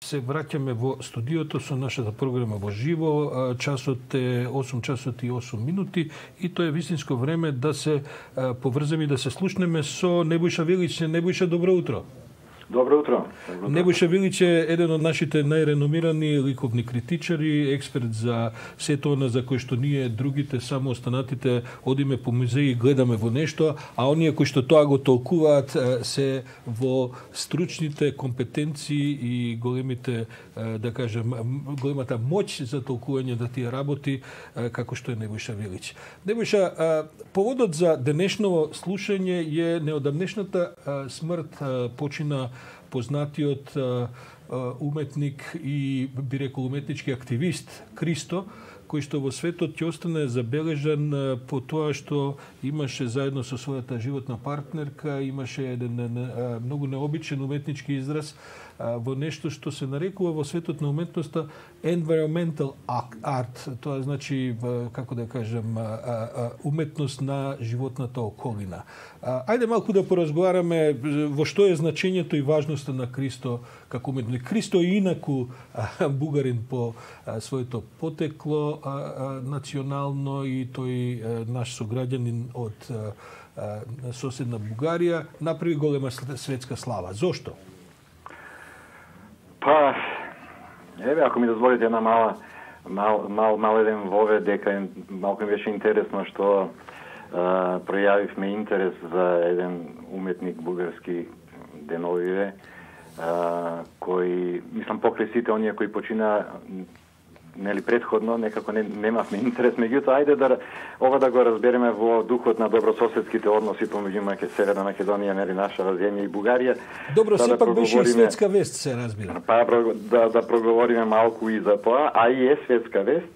се враќаме во студиото со нашата програма во живо. Часот е 8 часот и 8 минути и тоа е вистинско време да се поврземе и да се слушнеме со Небојша Велич. Небојша, добро утро. Добро утро. Небојша Велич е еден од нашите најреномирани ликовни критичари, експерт за сето она за кој што ние другите само останатите одиме по музеи и гледаме во нешто, а оние кои што тоа го толкуваат се во стручните компетенции и големите, да кажем, големата моќ за толкување на тие работи како што е Небојша Велич. Небојша, поводот за денешново слушање е неодамнешната смрт почина познатиот уметник и, би рекол, уметнички активист Кристо, кој што во светот ќе остане забележан по тоа што имаше заедно со својата животна партнерка, имаше еден многу необичен уметнички израз во нешто што се нарекува во светот на уметноста environmental art, тоа значи, како да кажем, уметност на животната околина. Ајде малку да поразговараме во што е значењето и важноста на Кристо како уметник. Кристо е инаку бугарин по своето потекло национално и тој наш сограѓанин од соседна Бугарија, направи голема светска слава. Зошто? Па, еве, ако ми дозволите една мал еден вовед, дека малку ми беше интересно што пројавивме интерес за еден уметник бугарски деновиве, кој, мислам, покрај сите оние кои почина нели претходно, некако немавме интерес, меѓутоа ајде ова да го разбереме во духот на добрососедските односи помеѓу Северна Македонија, нели нашава земја и Бугарија. Добро, сепак беше и светска вест, се разбира. Па да проговориме малку и за тоа, а и е светска вест.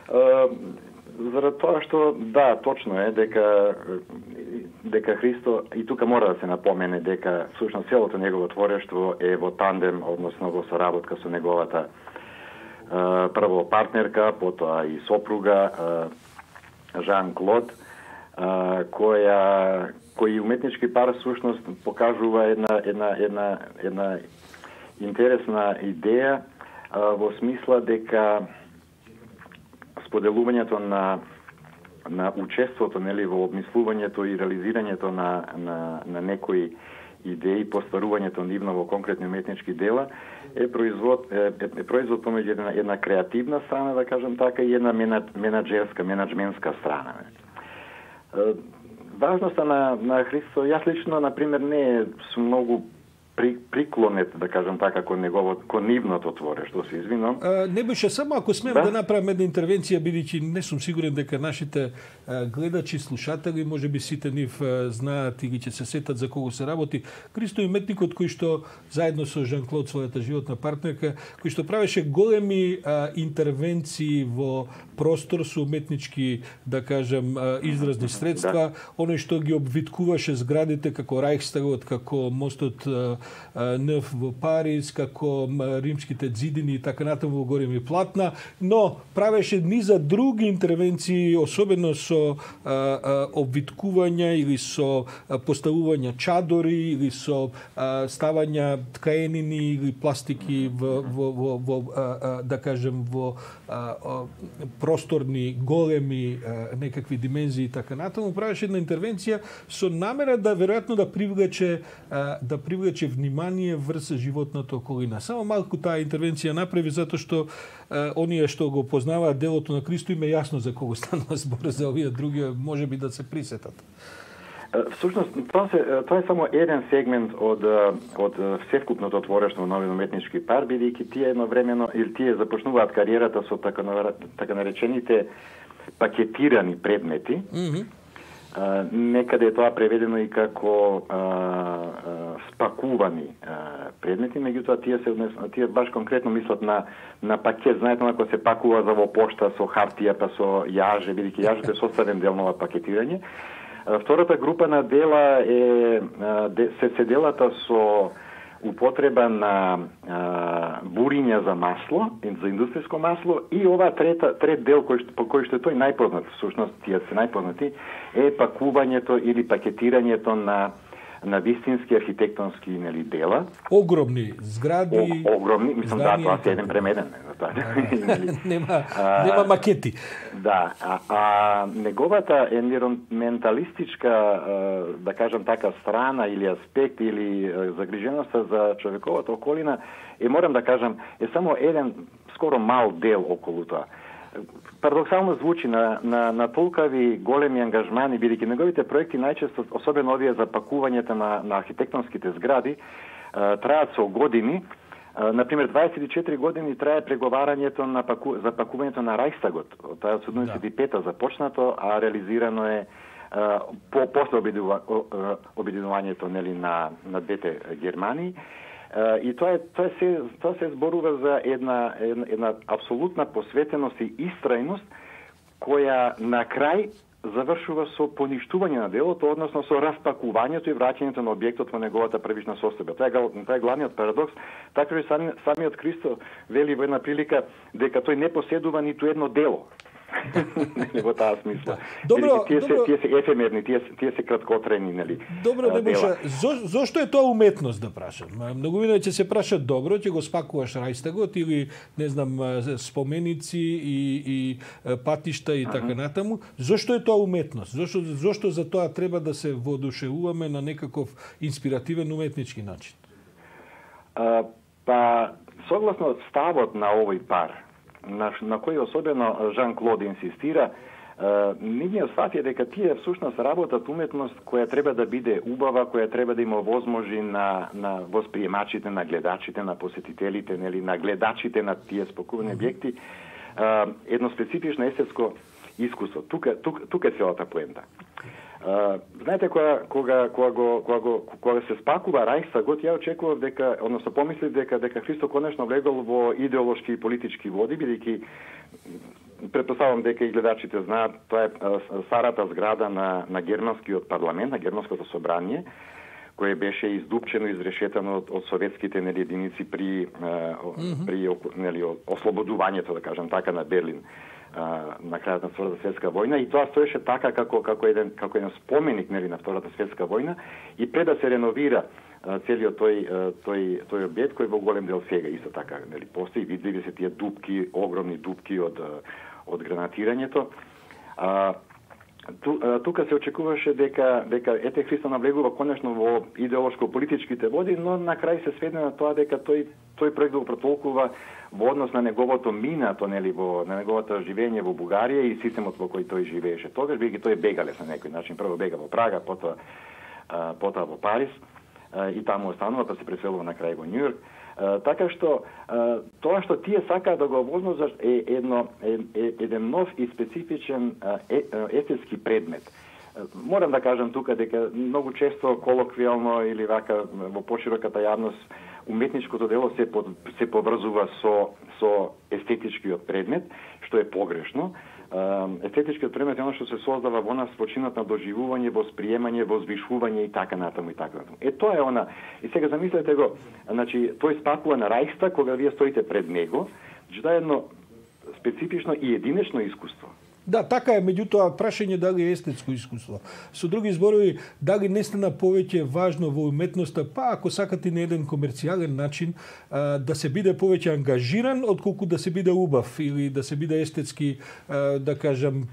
Заради тоа што, да, точно е дека Христо, и тука мора да се напомене дека всушност целото негово творештво е во тандем, односно во соработка со неговата прво партнерка, потоа и сопруга Жан-Клод, кој уметнички пар всушност покажува една интересна идеја во смисла дека споделувањето на учеството, нели, во обмислувањето и реализирањето на некои идеи, постварувањето нивно во конкретни уметнички дела е производ помеѓу една креативна страна, да кажем така, и една менаџментска страна. Важноста на Христо, јас лично, например, не сум многу приклонет, да кажем така, кон нивното творештво, се извинувам. Небојша, само ако смеам да направам една интервенција, бидејќи не сум сигурен дека нашите гледачи, слушатели, можеби сите нив знаат и ги ќе се сетат за кого се работи. Кристо е уметникот кој што заедно со Жан-Клод, својата животна партнерка, кој што правеше големи интервенции во простор со уметнички, да кажем, изразни средства, оној што ги обвиткуваше зградите како Рајхстагот, како мостот Неф во Париз, како римските ѕидини и така натаму во големи платна, но правеше низа други интервенции, особено со обвиткувања или со поставување чадори или со ставања ткаенини или пластики во да кажем во просторни големи некакви димензии и така натаму. Правеше една интервенција со намера да веројатно да привлече внимание врз животната околина. Само малку таа интервенција направи затоа што оние што го познаваат делото на Кристо им е јасно за кого станува збор, за овие други можеби да се присетат. Всушност, тоа е само еден сегмент од севкупното творештво на овој уметнички пар, бидејќи тие едновремено или тие започнуваат кариерата со така наречените пакетирани предмети. Некаде е тоа преведено и како спакувани предмети, меѓутоа тие баш конкретно мислат на пакет. Знаете, ако се пакува за во пошта со хартија па со јаже, бидејќи јажето е составен дел на пакетирање. Втората група на дела се делата со употреба на буриња за масло, за индустријско масло, и ова трет дел по кој што е тој најпознат, всушност тие се најпознати, е пакувањето или пакетирањето на на вистински архитектонски дела. Огромни згради. Огромни, мислам тоа се еден премеден. Нема макети. Да, неговата енвиронменталистичка, да кажам така, страна или аспект или загриженоста за човековата околина морам да кажам, само еден скоро мал дел околу тоа. Парадоксално звучи на толкави големи ангажмани, бидејќи неговите проекти најчесто, особено овие за пакувањето на архитектонските згради, траат со години. Например, 24 години трае преговарањето за пакувањето на Рајхстагот. Тоа е од 75-та започнато, а реализирано е после обединувањето на двете Германии. И тоа се зборува за една апсолутна посветеност и истрајност која на крај завршува со поништување на делото, односно со распакувањето и враќањето на објектот во неговата првична состојба. Тоа е главниот парадокс. Така и самиот Христо вели во една прилика дека тој не поседува ниту едно дело. Во таа смисла. Тие се ефемерни, тие се краткотрени, нели? Добро, Небоша, зошто е тоа уметност, да прашам? Многу ќе се прашат, добро, ќе го спакуваш Рајхстагот или, не знам, споменици и патишта и така натаму. Зошто е тоа уметност? Зошто за тоа треба да се воодушевуваме на некаков инспиративен уметнички начин? Согласно ставот на овој пар, на кој особено Жан-Клод инсистира, ние сватија дека тие всушност работат уметност која треба да биде убава, која треба да има возможи на восприемачите, на гледачите, на посетителите, нели, на гледачите на тие спакувани објекти, едно специфично естетско искуство. Тука е целата поента. Знаете, кога се спакува Рајхстагот, ја очекував дека, односно помислив дека Христо конечно влегол во идеолошки и политички води, бидејќи претпоставувам дека и гледачите знаат, тоа е старата зграда на германскиот парламент, на германското собрание, кое беше издупчено, изрешетано од советските единици при ослободувањето, да кажам така, на Берлин на крајот на Втората светска војна, и тоа стоеше така како еден споменик на Втората светска војна, и пред да се реновира целиот тој објект кој во голем дел сега исто така постои, видливи се тие дупки, огромни дупки од гранатирањето. Тука се очекуваше дека ете Христо навлегува конечно во идеолошко-политичките води, но на крај се сведе на тоа дека тој проект го протолкува во однос на неговото минато, на неговото живење во Бугарија и системот во кој тој живееше. Тогаш бидејќи тој бегалес на некој начин, прво бега во Прага, потоа во Париз и таму останува, па се преселува на крај во Њујорк. Така што тоа што тие сакаат да го возможат е еден нов и специфичен естетски предмет. Морам да кажам тука дека многу често колоквијално или вака во пошироката јавност уметничкото дело се поврзува со естетичкиот предмет, што е погрешно. Естетичкиот предмет е оно што се создава во нас во чинот на доживување, восприемање, возвишување и така натаму и така натаму. Тоа е она. И сега замислете го, значи тој спакува на Рајхстаг кога вие стоите пред него, тоа е едно специфично и единечно искуство. Да, така е, меѓутоа прашање дали е естетско искуство. Со други зборови, дали не стана повеќе важно во уметноста, па ако сакате на еден комерцијален начин, да се биде повеќе ангажиран, отколку да се биде убав или да се биде естетски, да кажам,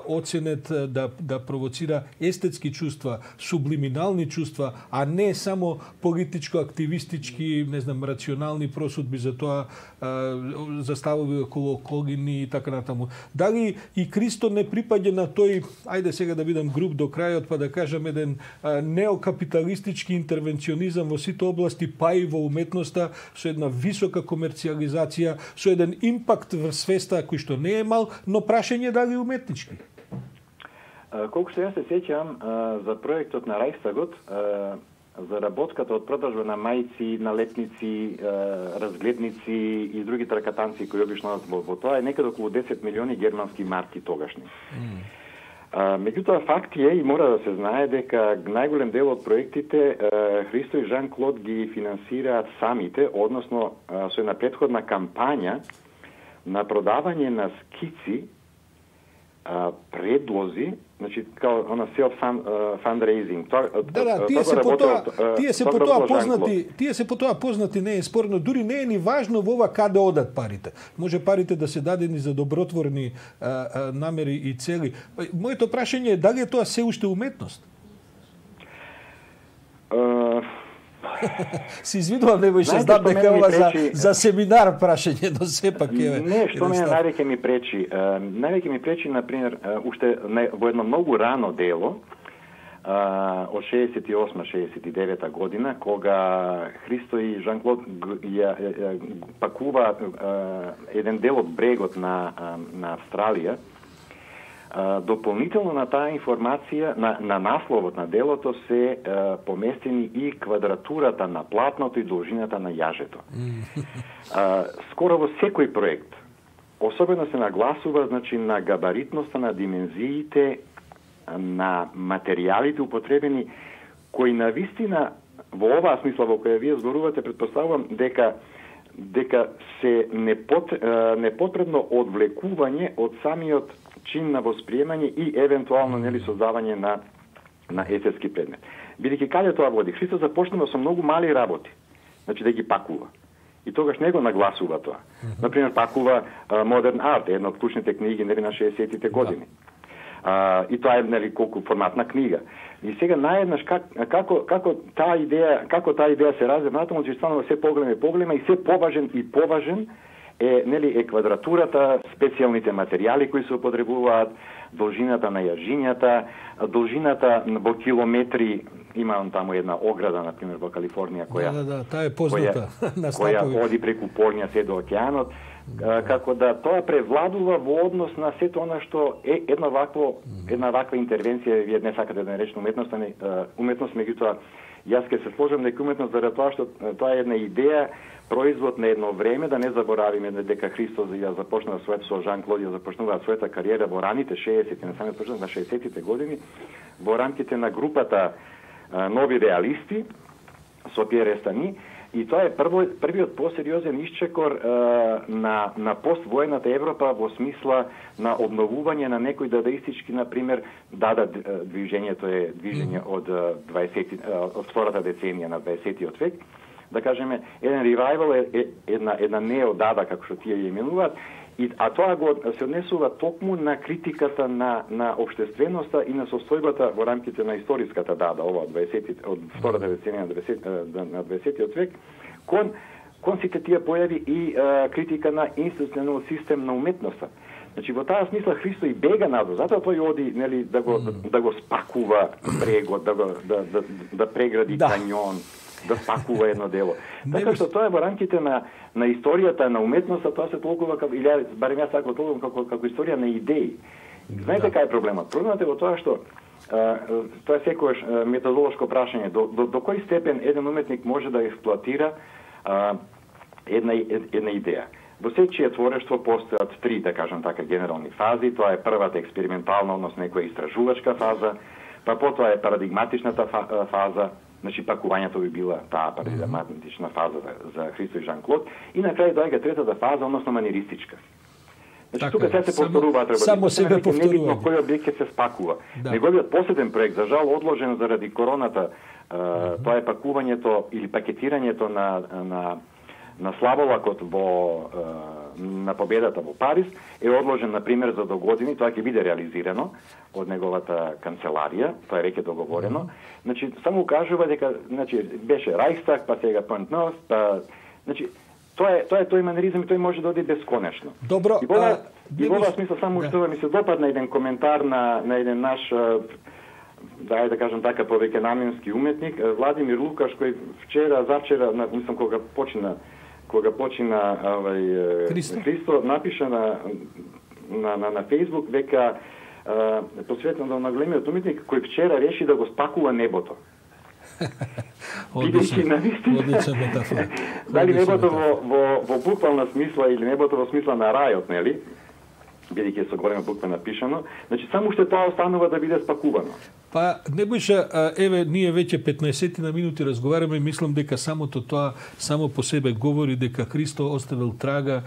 оценет, да провоцира естетски чувства, сублиминални чувства, а не само политичко-активистички, не знам, рационални просудби за тоа, за ставови околу околини и така натаму. Дали и Христо не припаѓа на тој, ајде сега да бидам груб до крајот, па да кажам еден неокапиталистички интервенционизам во сите области, па и во уметноста, со една висока комерцијализација, со еден импакт во свеста кој што не е мал, но прашање дали уметнички? Колку што јас се сеќам за проектот на Рајхстагот, за работката од продажба на мајци, налепници, разгледници и други тракатанци кои обично во тоа е некаде околу 10 милиони германски марки тогашни. Меѓутоа факт е и мора да се знае дека најголем дел од проектите Христо и Жан-Клод ги финансираат самите, односно со една претходна кампања на продавање на скици предлози, значи као она self fundraising. Тие се по тоа познати, не е спорно, дури не е ни важно во ова каде одат парите. Може парите да се дадени за добротворни намери и цели. Моето прашање е дали е тоа се уште уметност? Си извинувам, не ќе знам дека ова за семинар прашање, но сепак е. Не, што мене највеќе ми пречи. Највеќе ми пречи, например, уште во едно многу рано дело, од 68-69 година, кога Христо и Жан-Клод пакува еден дел од брегот на Австралија. Дополнително на таа информација, на насловот на делото се поместени и квадратурата на платното и должината на јажето. Скоро во секој проект, особено се нагласува, значи, на габаритноста, на димензиите, на материјалите употребени, кои навистина во оваа смисла во која вие зборувате, предпоставувам дека се непотребно одвлекување од самиот чин на восприемање и евентуално нели создавање на есетски предмет. Бидејќи каде тоа води? Христос започнува со многу мали работи, значи да ги пакува. И тогаш не го нагласува тоа. Например, пакува Modern Art, една од клучните книги нели на 60-тите години. И тоа е нели колку форматна книга. И сега наеднаш како таа идеја се развива, натаму ќе станува се поголема и се поважен е квадратурата, специјалните материјали кои се употребуваат, должината на јажињата, должината во километри, имам таму една ограда, например, во Калифорнија, таа е позната која оди преку полња се до океанот, како да тоа превладува во однос на сето она што е една ваква интервенција, вие не сакате да наречете уметност, меѓутоа јас ќе се сложам дека уметност заради тоа што тоа е една идеја, производ на едно време, да не заборавиме дека Христос ја започнува со Жан-Клод ја започнува својата кариера во раните 60-ти, на самиот почеток на 60-тите години, во рамките на групата Нови реалисти со Пиер Естани, и тоа е првиот посериозен исчекор на поствоената Европа во смисла на обновување на некои дадаистички, например, движењето е движење од втората деценија на 20-тиот век. Да кажеме, еден ревайвал е една неодада, како што тие ја именуваат, а тоа го се однесува токму на критиката на општественоста и на состојбата во рамките на историската дада, ова од втората деценија на 20-тиот век, кон сите тие појави и критика на институционален систем на уметноста. Значи, во таа смисла Христо и бега надвор, затоа тој оди, нели, да го спакува брегот, да прегради канјон, да спакува едно дело. Така што тоа е во рамките на историјата на уметноста, тоа се толкува, или барем јас така толкувам како историја на идеи. Знаете кај е проблемот? Проблемот е во тоа што тоа е секојаш методолошко прашање, до кој степен еден уметник може да експлоатира една идеја. Во секој творештво постојат три, да кажам така, генерални фази. Тоа е првата експериментална, односно некоја истражувачка фаза, па потоа е парадигматичната фаза, значи пакувањето би била таа парадигматична фаза за Христо и Жан-Клод, и на крај доаѓа третата фаза, односно маниеристичка. Значи тука се повторуваат работи. Само себе повторуваат. Небитно кој објект ќе се спакува. Неговиот последен проект, за жал одложен заради короната, тоа е пакувањето или пакетирањето на славолакот на победата во Париз, е одложен, например, за до години. Тоа ќе биде реализирано од неговата канцеларија, тоа е веќе договорено. Значи, само кажува дека, значи, беше Рајхстаг, па сега Пантнос, па, значи, тоа е тој манеризам и тој може да оди бесконечно. Добро. И во оваа смисла само што ми се допадна еден коментар на еден наш, да кажам така, повеќе наменски уметник, Владимир Лукаш, кој завчера, мислам кога почина Христо, напиша на Фейсбук, века посветено на големиот уметник кој вчера реши да го спакува небото. Одлична метафора. Дали небото во буквална смисла или небото во смисла на рајот, нели? Бидејќи со голема буква напишано, значи само уште тоа останува да биде спакувано. Па Небојша, еве ние веќе 15 на минути разговараме и мислам дека самото тоа само по себе говори дека Христо оставил трага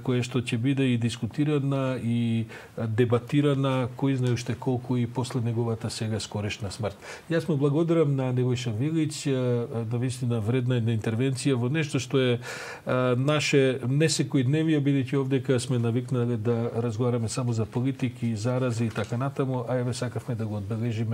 која што ќе биде и дискутирана и дебатирана кој знае уште колку и после неговата сега скорешна смрт. Јас му благодарам на Небојша Велич, навистина вредна една интервенција во нешто што е наше несекојдневие, бидејќи овдека сме навикнале да разговараме само за политики, зарази и така натаму, а еве сакавме да го одбележиме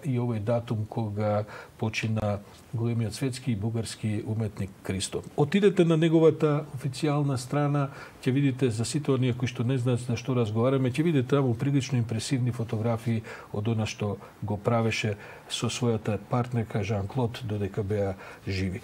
и овој датум кога почина големиот светски и бугарски уметник Христо. Отидете на неговата официјална страна, ќе видите за сите оние кои што не знаат за што разговараме, ќе видите таму прилично импресивни фотографии од она што го правеше со својата партнерка Жан Клод додека беа живи.